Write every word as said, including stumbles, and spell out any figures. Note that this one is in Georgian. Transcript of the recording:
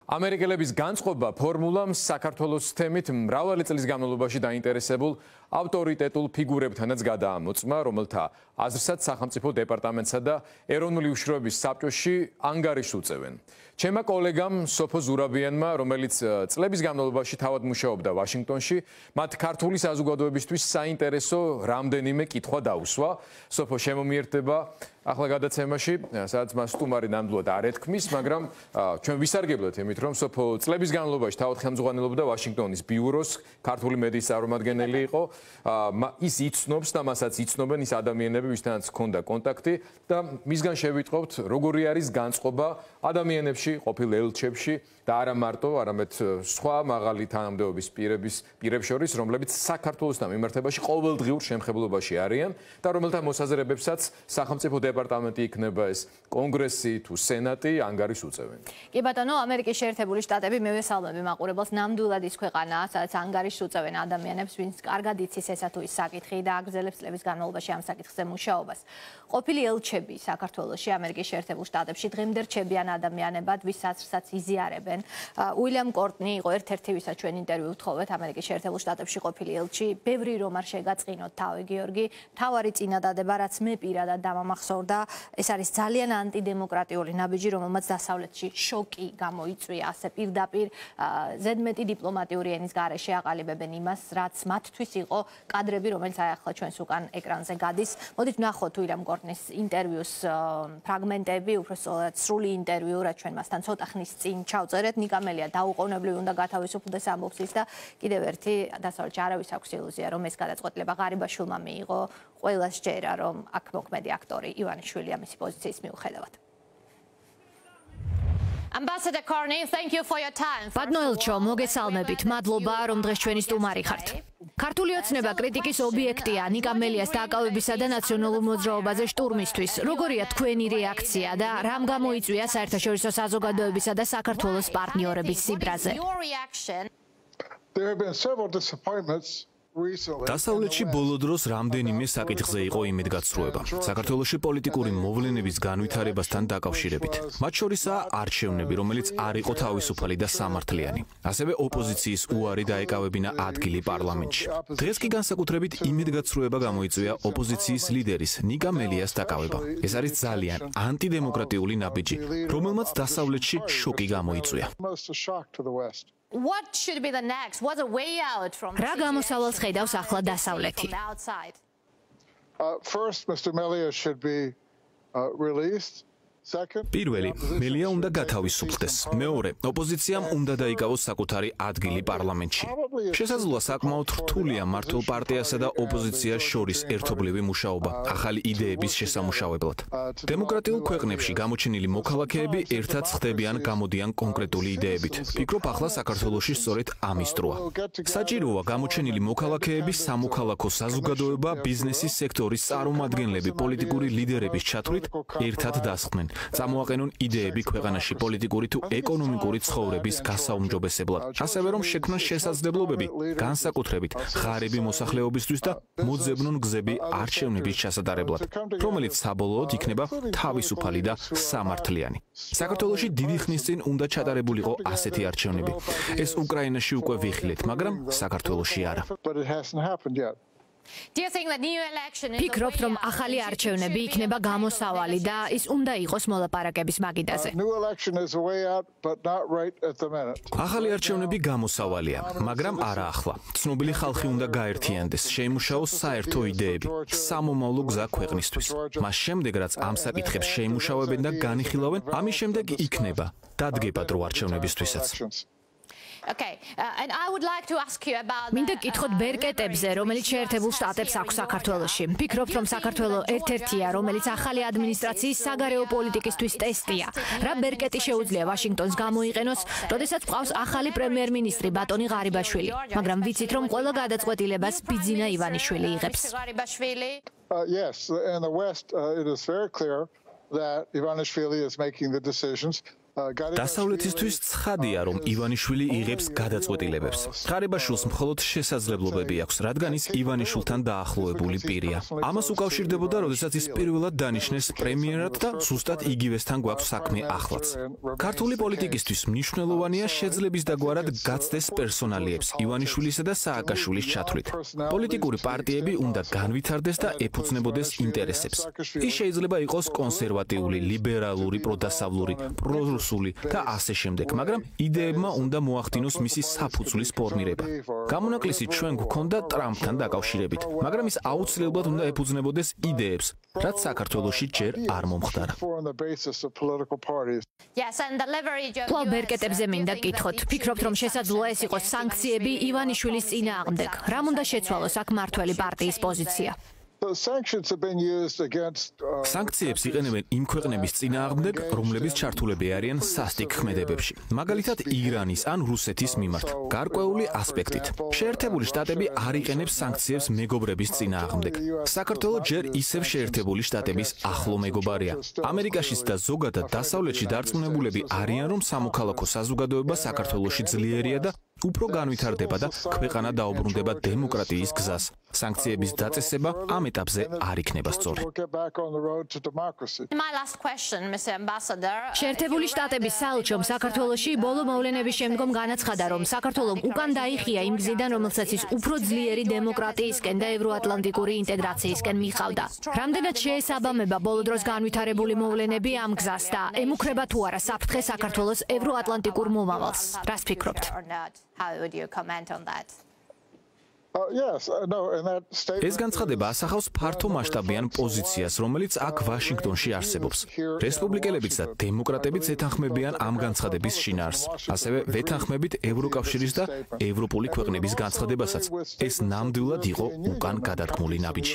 ამერიკელების განწყობა ფორმულამ საქართველოს თემით მრავალი წლის განმავლობაში დაინტერესებულ ავტორიტეტულ ფიგურებთანაც გადაამოწმა, რომელთა აზრსაც სახელმწიფო დეპარტამენტსა და ეროვნული უშიშროების საბჭოში ანგარიშს უწევენ. ჩემმა კოლეგამ სოფო ზურაბიანმა, რომელიც წლების განმავლობაში თავად მუშაობდა ვაშინგტონში, მათ ქართული საზოგადოებისთვის საინტერესო რამდენიმე კითხვა დაუსვა. სოფო შემომიერთდება ახლა გადაცემაში, სადაც მას სტუმარი ნამდვილად არ ეთქმის, მაგრამ ჩვენ ვისარგებლოთ იმით, რომ სოფო წლების განმავლობაში თავად ხელმძღვანელობდა ვაშინგტონის ბიუროს, ქართული მედიის წარმომადგენელი იყო. ის იცნობს და მასაც იცნობენ ის ადამიანები, ვისთანაც ჰქონდა კონტაქტი და მისგან შევიტყობთ, როგორი არის განწყობა ადამიანებში, ყოფილ ელჩებში და არა მარტო, არამედ სხვა მაღალი თანამდებობის პირების პირებს შორის, რომლებიც საქართველოსთან მიმართებაში ყოველდღიურ შემხებლობაში არიან და რომელთა მოსაზრებებსაც სახელმწიფო დეპარტამენტი იქნება ეს კონგრესი თუ სენატი ანგარიშს უწევენ. კი ბატონო, ამერიკის შეერთებული შტატები მევესალმები მაყურებელს, ნამდვილად ის ქვეყანაა, სადაც ანგარიშს უწევენ ადამიანებს, ვინც კარგად იცის ესა თუ ის საკითხი და აგრძელებს წლების განმავლობაში ამ საკითხზე მუშაობას. ყოფილი ელჩები საქართველოში, ამერიკის შეერთებულ შტატებში დღემდე რჩებიან ადამიანებად, ვის აზრსაც იზიარებენ. უილიამ კორტნი იყო ერთ-ერთი, ვისაც ჩვენ ინტერვიუ ვთხოვეთ, ამერიკის შეერთებულ შტატებში ყოფილი ელჩი. ბევრი რომ არ შეგაწყინოთ თავი გიორგი, თავარი წინადადება, რაც მე პირადად დამამახსოვრდა, ეს არის ძალიან ანტიდემოკრატიული ნაბიჯი, რომელმაც დასავლეთში შოკი გამოიწვია, ასე პირდაპირ ზედმეტი დიპლომატიური ენის გარეშე აყალიბებენ იმას, რაც მათთვის იყო კადრები, რომელიც აი ახლა ჩვენს უკან ეკრანზე გადის. მოდით ვნახოთ უილიამ კორტნის ინტერვიუს ფრაგმენტები, უბრალოდ სრული ინტერვიუ, რაც ჩვენ მასთან ცოტა ხნის წინ ჩავწერეთ. ნიკა მელია დაუყოვნებლივ უნდა გათავისუფლდეს ამბობს ის და კიდევ ერთი დასავლეთში არავის აქვს ილუზია, რომ ეს გადაწყვეტილება ღარიბაშვილმა მიიღო. ყველას სჯერა, რომ აქ მოქმედი აქტორი ივანიშვილია მისი პოზიციის მიუხედავად. Ambassador Corney, thank you for your time. ბატონო ელჩო, მოგესალმებით. მადლობა, რომ დღეს ჩვენი სტუმარი ხართ. ქართული ოცნება კრიტიკის ობიექტია ნიკა მელიას დაკავებისა და ნაციონალურ მოძრაობაზე შტურმისთვის. როგორია თქვენი რეაქცია და რამ გამოიწვია საერთაშორისო საზოგადოებისა და საქართველოს პარტნიორების სიბრაზე? There have been several disappointments. დასავლეთში ბოლო დროს რამდენიმე საკითხზე იყო იმედგაცრუება. საქართველოში პოლიტიკური მოვლენების განვითარებასთან დაკავშირებით. მათ შორისაა არჩევნები, რომელიც არ იყო თავისუფალი და სამართლიანი. ასევე ოპოზიციის უარი დაეკავებინა ადგილი პარლამენტში. დღეს კი განსაკუთრებით იმედგაცრუება გამოიწვია ოპოზიციის ლიდერის ნიკა მელიას დაკავება. ეს არის ძალიან ანტიდემოკრატიული ნაბიჯი, რომელმაც დასავლეთში შოკი გამოიწვია. What should be the next? What's a way out from რა გამოსავალს ხედავს ახლა დასავლეთი? Uh, first, Mister Melia should be uh, released. პირველი, მელია უნდა გათავისუფლდეს. მეორე, ოპოზიციამ უნდა დაიკავოს საკუთარი ადგილი პარლამენტში. შესაძლოა საკმაოდ რთულია მართლ პარტიასა და ოპოზიციას შორის ერთობლივი მუშაობა, ახალი იდეების შესამუშავებლად. დემოკრატიულ ქვეყნებში გამოჩენილი მოქალაქეები ერთად ხდებიან, გამოდიან კონკრეტული იდეებით. ვფიქრობ, ახლა საქართველოში სწორედ ამის დროა. საჭიროა გამოჩენილი მოქალაქეები, სამოქალაქო საზოგადოება, ბიზნესის სექტორის წარმომადგენლები, პოლიტიკური ლიდერების ჩათვლით ერთად დასხდნენ. წამოაყენონ იდეები ქვეყანაში პოლიტიკური თუ ეკონომიკური ცხოვრების გასაუმჯობესებლად. ასევე რომ შექმნან შესაძლებლობები განსაკუთრებით ღარიბი მოსახლეობისთვის და მოძებნონ გზები არჩევნების ჩასატარებლად, რომელიც საბოლოოდ იქნება თავისუფალი და სამართლიანი. საქართველოში დიდი ხნის წინ უნდა ჩატარებულიყო ასეთი არჩევნები. ეს უკრაინაში უკვე ვიხილეთ, მაგრამ საქართველოში არა. ფიქრობთ, რომ ახალი არჩევნები იქნება გამოსავალი და ის უნდა იყოს მოლაპარაკების მაგიდაზე. ახალი არჩევნები გამოსავალია, მაგრამ არა ახლა. ცნობილი ხალხი უნდა გაერთიანდეს, შეიმუშაოს საერთო იდეები, სამომავლო გზა ქვეყნისთვის. მას შემდეგ, რაც ამ საკითხებს შეიმუშავებენ და განიხილავენ, ამის შემდეგ იქნება დადგება დრო არჩევნებისთვისაც. Okay, uh, and I would like to ask you about მინდა გითხოთ ბერკეტებზე, რომელიც შეერთებულ შტატებს აქვს საქართველოში. ფიქრობთ, რომ საქართველო ერთ-ერთია, რომელიც ახალი ადმინისტრაციის საგარეო პოლიტიკისთვის ტესტია. რა ბერკეტი შეუძლია ვაშინგტონს გამოიყენოს, როდესაც ყავს ახალი პრემიერ-მინისტრი ბატონი ღარიბაშვილი, მაგრამ ვიცით, რომ ყველა გადაწყვეტილებას ბიძინა ივანიშვილი იღებს. Uh, yes, in the West, uh, it is very clear that Ivanishvili is making the decisions. დასავლეთისთვის ცხადია, რომ ივანიშვილი იღებს გადაწყვეტილებებს. ღარიბაშვილს მხოლოდ შესაძლებლობები აქვს, რადგან ის ივანიშვილთან დაახლოებული პირია. ამას უკავშირდებოდა, როდესაც ის პირველად დანიშნეს პრემიერად და ზუსტად იგივესთან გვაქვს საქმე ახლაც. ქართული პოლიტიკისთვის მნიშვნელოვანია შეძლების დაგვარად გაცდეს პერსონალიებს ივანიშვილისა და სააკაშვილის ჩათვლით. პოლიტიკური პარტიები უნდა განვითარდეს და ეფუძნებოდეს ინტერესებს. ის შეიძლება იყოს კონსერვატიული, ლიბერალური, პროდასავლური, პრორუსული და ასე შემდეგ, მაგრამ იდეებმა უნდა მოახდინოს მისი საფუძვლის ფორმირება. გამონაკლისი ჩვენ გვქონდა ტრამპთან დაკავშირებით, მაგრამ ის აუცილებლად უნდა ეფუძნებოდეს იდეებს, რაც საქართველოში ჯერ არ მომხდარა. კვლავ ბერკეტებზე მინდა გკითხოთ. ფიქრობთ, რომ შესაძლოა ეს იყოს სანქციები ივანიშვილის წინააღმდეგ? რამ უნდა შეცვალოს აქ მმართველი პარტიის პოზიცია? სანქციებს იყენებენ იმ ქვეყნების წინააღმდეგ, რომლებიც ჩართულები არიან სასტიკ ქმედებებში, მაგალითად ირანის ან რუსეთის მიმართ. გარკვეული ასპექტით. შეერთებული შტატები არ იყენებს სანქციებს მეგობრების წინააღმდეგ. საქართველო ჯერ ისევ შეერთებული შტატების ახლო მეგობარია. ამერიკაშიც და ზოგადად დასავლეთში დარწმუნებულები არიან, რომ სამოქალაქო საზოგადოება საქართველოში ძლიერია და უფრო განვითარდება და ქვეყანა დაუბრუნდება დემოკრატიის გზას. სანქციების დაწესება ამ ეტაპზე არ იქნება სწორი. შეერთებული შტატების საელჩომ საქართველოში ბოლო მოვლენების შემდგომ განაცხადა, რომ საქართველომ უკან დაიხია იმ გზიდან, რომელსაც ის უფრო ძლიერი დემოკრატიისკენ და ევროატლანტიკური ინტეგრაციისკენ მიხავდა. რამდენად შეესაბამება ბოლო დროს განვითარებული მოვლენები ამ გზას და ემუქრება თუ არა საფრთხე საქართველოს ევროატლანტიკურ მომავალს? რას ფიქრობთ? How would you comment on that? ეს განცხადება ასახავს ფართო მასშტაბიან პოზიციას, რომელიც აქ ვაშინგტონში არსებობს. რესპუბლიკელებიც და დემოკრატებიც ეთანხმებიან ამ განცხადების შინაარსს. ასევე ვეთანხმებით ევროკავშირის და ევროპული ქვეყნების განცხადებასაც. ეს ნამდვილად იყო უკან გადადგმული ნაბიჯი.